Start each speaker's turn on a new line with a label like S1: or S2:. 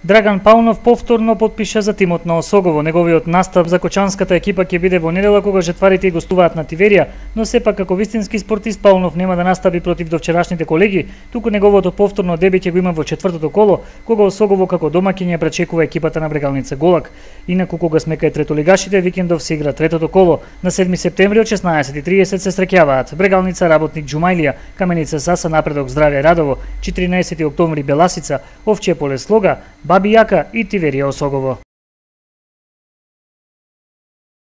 S1: Драган Паунов повторно потпиша за тимот на Осогово. Неговиот настап за кочанската екипа ќе биде во недела кога жетварите гостуваат на Тиверија, но сепак како вистински спортист Паунов нема да настапи против довчерашните колеги, туку неговото повторно дебит ќе го има во четвртото коло, кога Осогово како домаќин ја пречекува екипата на Брегалница Голак. Инаку кога сме кај третолигашите, викендов се игра третото коло. На 7 септември од 16:30 се среќаваат Брегалница Работник Џумајлија, Каменица Саса Напредок Здраве Радово, 14 октомври Беласица, Овчје Поле Слога, Баби Јака и Тиверија Осогово.